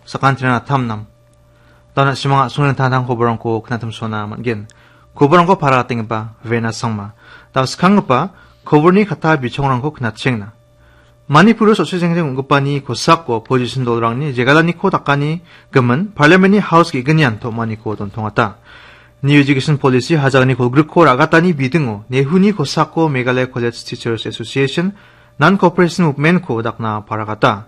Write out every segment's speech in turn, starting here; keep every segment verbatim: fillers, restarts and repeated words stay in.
Sakantiran atam nam. Dauna simang a·songni tangtang koborangko knatimsona man·gen. Koborangko para atenggipa Vena Sangma. Dao skanggipa koborni kata bichongrangko knatchengna. Manipuro sotse jengjeng ong·gipani kosako opposition dolrangni jegalaniko dakani gimin Parliamentni House ge·gnian tom·aniko dontongata. New Education Policy hajalni kolgrikko ra·gatani bidingo Nehuni kosako Meghalaya College Teachers Association, Non-Cooperation Movement-ko dakna paragata.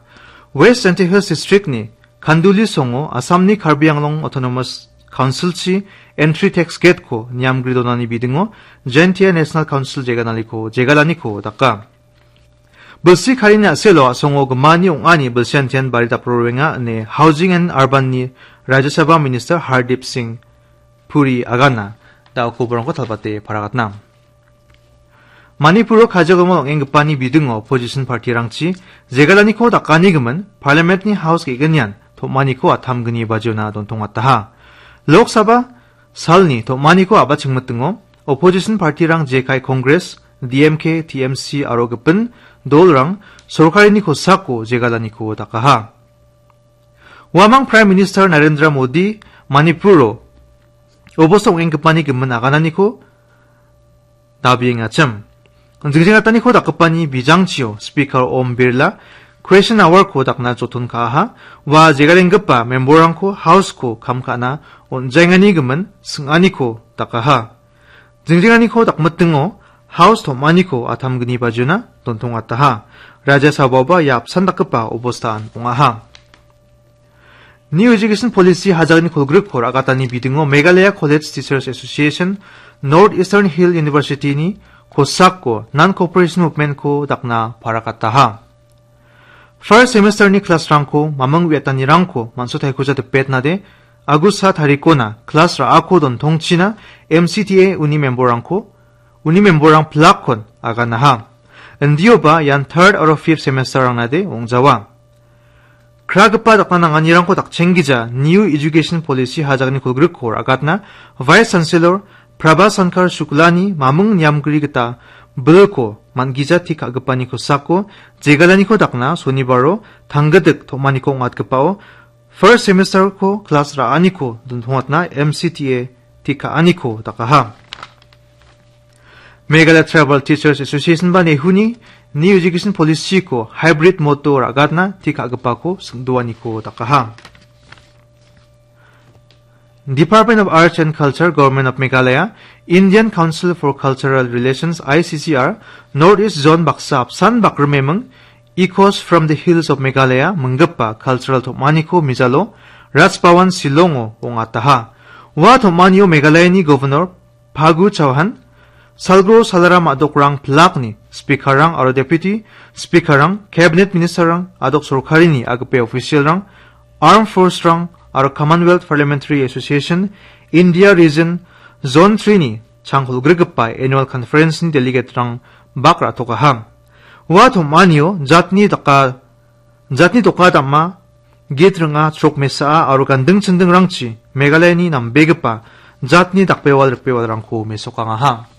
West Jaintia Hills District-ni Khanduli songo Assamni Karbi Anglong Autonomous Council-chi entry tax gate-ko niamgri donani bidingo Jaintia National Council jegalaniko, jegalaniko daka. Bilsi karini a·selo a·songo gimani ong·ani bilsiantian bari dapro roenga ine Housing and Urban-ni Rajya Sabha Minister Hardip Singh Puri agana da·o koborangko talbate paragatna. Manipuro kajagimo ong·enggipani bidingo opposition party-rangchi jegalaniko dakani gimin Parliament-ni House ge·gnian tom·aniko atamgni bajiona dontongataha. Lok Sabha salni tom·aniko a·bachengmitingo opposition party-rang jekai Congress, D M K, T M C aro gipin dolrang sorkarini kosako jegalaniko dakaha. Uamang Prime Minister Narendra Modi Manipuro obosta ong·enggipani gimin agananiko dabiengachim. Jingjengataniko dakgipani bijangchio Speaker Om Birla question hour-ko dakna joton ka·aha. Ua jegalenggipa member-rangko House-ko kam ka·na on·jaengani gimin sing·aniko dakaha. Jingjenganiko dakmitingo House tom·aniko atamgni bajiona dontongataha. Rajya Sabhaoba ia apsan dakgipa obostaan ong·aha. New Education Policy hajalni kolgrikko ra·gatani bidingo Meghalaya College Teachers Association, North Eastern Hill University-ni kosako Non-Cooperation Movement-ko dakna paragataha. First semester-ni class-rangko maming uiatanirangko man·sotaikoja dipetnade, August sa tarikona class ra·ako dontongchina M C T A uni member-rangko, uni member-rang pilakkon aganaha. Indioba ian third aro fifth semester-rangnade ong·jawa. Kragipa dakna nanganirangko dakchenggija New Education Policy hajalni kolgrikko ra·gatna Vice Chancellor Prabha Shankar Shuklani maming niamgri gita bilko man·gija tik ka·gipani kosako jegalaniko dakna sonibaro tanggidik tom·aniko ong·atgipao first semester-ko class ra·aniko dontongatna M C T A tik ka·aniko dakaha. Meghalaya Tribal Teachers Association ba Nehuni New Education Policy-ko hybrid mode-o ra·gatna tik ka·gipako sing·doaniko dakaha. Department of Arts and Culture, Government of Meghalaya, Indian Council for Cultural Relations, I C C R, North East Zone baksa apsan bakrimeming Echoes from the Hills of Meghalaya minggipa cultural tom·aniko mijalo Raj Bhavan Shillong-o ong·ataha. Ua tom·anio Meghalayani Governor Phagu Chauhan, Salgro Salaram a·dokrang pilakni Speaker-rang aro Deputy Speaker-rang, Cabinet Minister-rang, a·dok sorkarini agipe official-rang, Armed Force-rang aro Commonwealth Parliamentary Association, India Region, Zone three-ni changkolgrigipa Annual Conference-ni delegate-rang bak ra·tokaha. Ua tom·anio jatni daka-, jatni doka dam·a, git ring·a, chrok mesa·a aro ganding chindingrangchi Meghalayani nambegipa jatni dakbewal rikbewalrangko mesokangaha.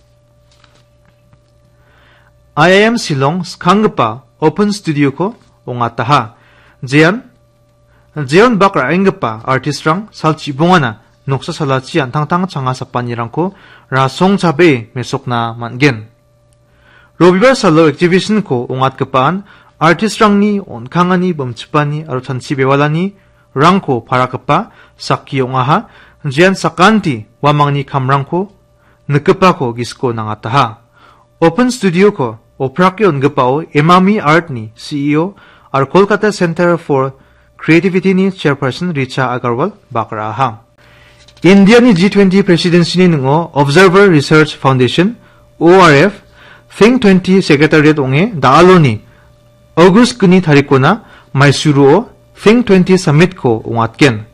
I I M Shillong skanggipa Open Studio-ko ong·ataha. Jean, jeon bak ra·enggipa artist-rang sal chibongana noksa salachi an·tangtang changa sapanirangko rasong chabee mesokna man·gen. Robibar salo exhibition-ko ong·atgipaan artist-rangni on·kangani bimchipani aro chanchi bewalanirangko parakipa sakki ong·aha. Jean sakanti uamangni kamrangko nikgipako gisiko nangataha. Open Studio-ko oprake on·gipao Emami Art-ni C E O aro Kolkata Center for Creativity-ni chairperson Richa Agarwal bak ra·aha. Indiani G twenty presidency-ni ning·o Observer Research Foundation, O R F, Think twenty Secretariat ong·e da·aloni August gni tarikona Maisuruo Think twenty Summit-ko ong·atgen.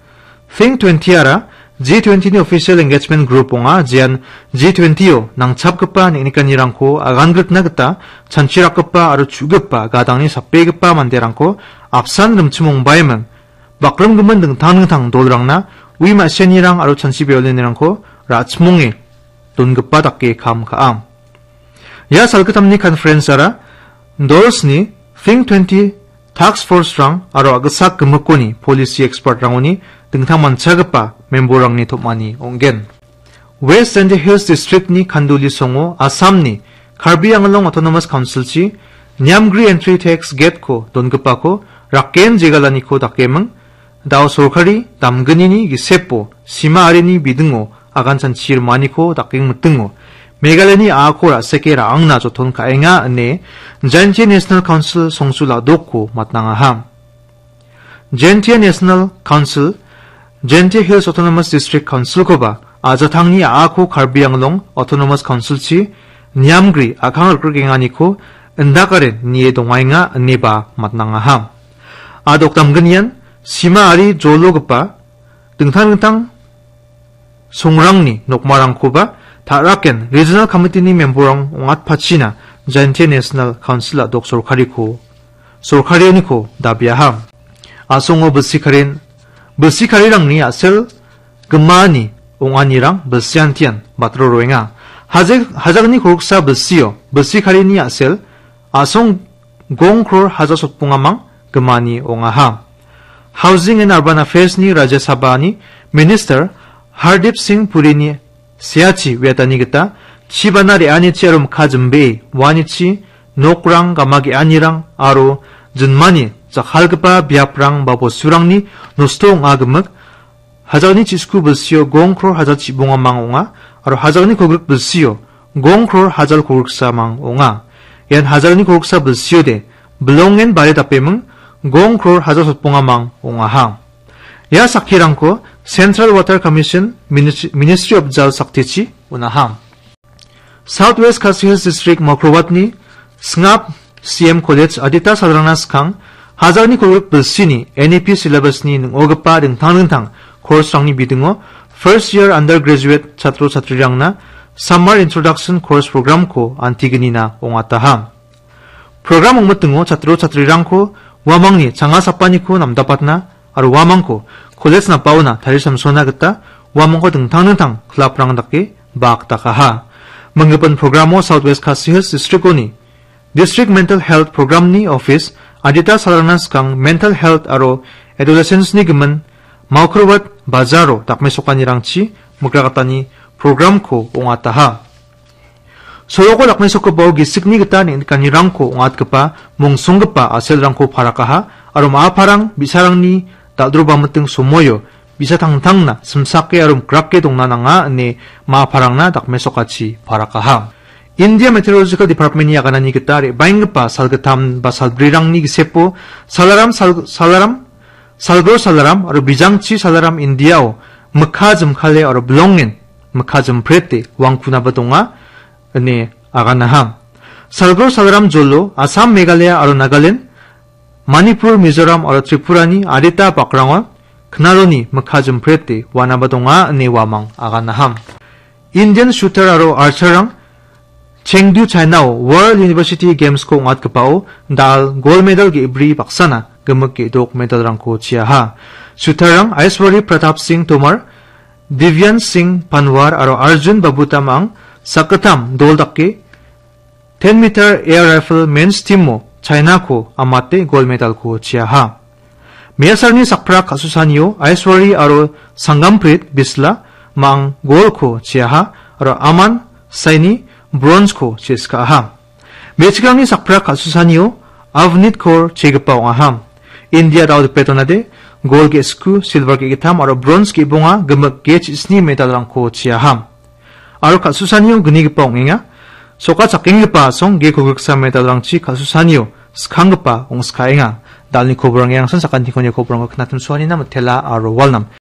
Think twenty-ara G twenty-ni official engagement group ong·a, jean G twenty-o nangchapgipa neng·nikanirangko aganggrikna gita chanchirakgipa aro chu·gipa gadangni sapegipa manderangko apsan rimchimongbaiming bakrimgimin dingtang dingtang dolrangna ui ma·sianirang aro chanchi beolenirangko ra·chimonge dongipa dake kam ka·a. Ia salgittamni conference-ara dolsni Think twenty Task Force-rang aro a·gisak gimikoni policy expert-rangoni dingtang manchagipa member-rangni tom·ani ong·gen. West Jaintia Hills District-ni Khanduli songo Assamni Karbi Anglong Autonomous Council-chi Niamgri Entry Tax Gate-ko dongipako raken jegalaniko dakeming, dao sorkari damgnini gisepo sima arini bidingo agan chanchi rimaniko dakeng mitingo Meghalayani a·ako ra·seke ra·angna joton ka·enga ine Jaintia National Council songsul a·dokko matnangaha. Jaintia National Council, Jaintia Hills Autonomous District Council-koba ajatangni a·ako Karbi Anglong Autonomous Council-chi Niamgri a·kang rikrikenganiko indakaren nie dongaenga ineba matnangaha. A·dok damgnian sima ari jologipa dingtang dingtang songrangni nokmarangkoba ta·raken Regional Committee-ni member-rang ong·atpachina Jaintia National Council a·dok sorkariko, sorkarioniko dabiaha. A·songo bilsikaren-, bilsikarirangni a·sel gimani ong·anirang bilsiantian batro roenga. Hajek-, hajakni kolgiksa bilsio bilsikarini a·sel a·song gong kror hajar sotbongamang gimani ong·aha. Housing and Urban Affairs-ni Rajya Sabha-ni Minister Hardip Singh Purini seachi uiatani gita chibana re·anichi aro mikka jimbee uanichi nokrang, gama ge·anirang aro jinmani jakkalgipa biaprang ba bosturangni nosto ong·a gimik hajalni chisku bilsio gong kror hajal chibongamang ong·a, aro hajalni kolgrik bilsio gong kror hajal kolgriksamang ong·a. Ian hajalni kolgriksa bilsiode bilongen bare dapeming gong kror hajal sotbongamang ong·aha. Ia sakkirangko Central Water Commission Minis-, Ministry of Jal Shakti-chi on·aha. South West Khasi Hills District Mawkrowatni Sngap C M College adita salrangna skang hajalni kolgrik bilsini N E P syllabus-ni ning·ogipa dingtang dingtang course-rangni bidingo first year undergraduate chatro chatrirangna Summer Introduction Course Program-ko antignina ong·ataha. Program ong·mitingo chatro chatrirangko uamangni changa sapaniko namdapatna aro uamangko college napaona tarisamsona gita uamangko dingtang dingtang club-rang dake bak dakaha. Minggipin programo South West Khasi Hills District-oni District Mental Health Program-ni office adita salrangna skang mental health aro adolescence-ni gimin Mawkrowat Bazaro dakmesokanirangchi mikrakatani program-ko ong·ataha. Soroko dakmesokgipao gisikni gita neng·nikanirangko ong·atgipa mongsonggipa a·selrangko parakaha aro ma·a parang bi·sarangni dal·droba miting somoio bi·sa tangtangna simsake aro mikrake dongna nanga ine ma·a parangna dakmesokachi parakaha. India Meteorological Department-ni aganani gita re·baenggipa salgittam ba salbrirangni gisepo salaram sal-, salaram Salgro salaram aro bijangchi salaram Indiao mikka jimkale aro bilongen mikka jimprete wangkunaba donga ine aganaha. Salgro salaram jolo Assam, Meghalaya aro Nagaland, Manipur, Mizoram aro Tripurani adita bakrango knaloni mikka jimprete wanaba donga ine uamang aganaha. Indian shooter aro archer-rang Chengdu, China-o World University Games-ko ong·atgipao dal gold medal ge·bri baksana gimik ge·dok medal-rangko chiaha. Shooter-rang Aishwari Pratap Singh Tomar, Divyan Singh Panwar aro Arjun Babutam-ang sakgittam dol dake ten meter air rifle men's team-o China-ko amate gold medal-ko chiaha. Me·asarangni sakprak ka·susanio Aishwari aro Sangamprit Bisla mang golko chiaha aro Aman Saini bronzeko cheskaaha. Me·chikrangni sakprak ka·susanio Avnit Kaur chegipa ong·aha. India dao dipetonade gol ge·sku, silver ge·gittam aro bronz ge·bonga gimik ge chisni medalrangko chiaha. Aro ka·susanio gnigipa ong·enga. Soka chakenggipa asong ge kolgriksa medalrangchi ka·susanio skanggipa ong·skaenga. Dalni koborang iangsan sakantikoni koborangko knatimsoanina mitela aro walnam.